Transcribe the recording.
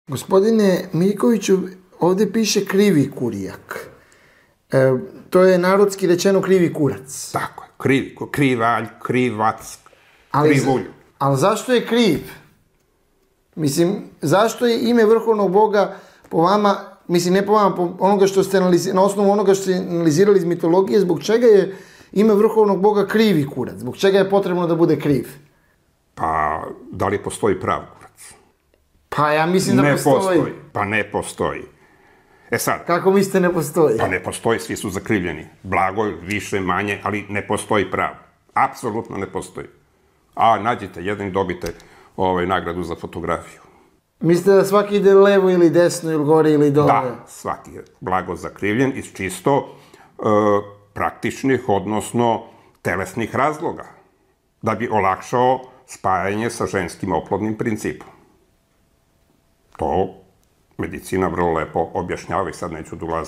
Gospodine Miljkoviću, ovdje piše krivi kurijak. To je narodski rečeno krivi kurac. Tako je, krivi, krivalj, krivac, krivulj. Ali zašto je kriv? Mislim, zašto je ime vrhovnog Boga po vama, mislim ne po vama, po onoga što ste na osnovu onoga što ste analizirali iz mitologije, zbog čega je ime vrhovnog Boga krivi kurac? Zbog čega je potrebno da bude kriv? Pa, da li postoji prav kurac? Pa ja mislim da postoji. Pa ne postoji. E sad. Kako mislite ne postoji? Pa ne postoji, svi su zakrivljeni. Blago, više, manje, ali ne postoji prav. Apsolutno ne postoji. A nađite jedan i dobite nagradu za fotografiju. Mislite da svaki ide levo ili desno ili gore ili dole? Da, svaki je blago zakrivljen iz čisto praktičnih, odnosno telesnih razloga. Da bi olakšao spajanje sa ženskim oplodnim principom. To medicina vrlo lepo objašnjava i sad neću da ulazim.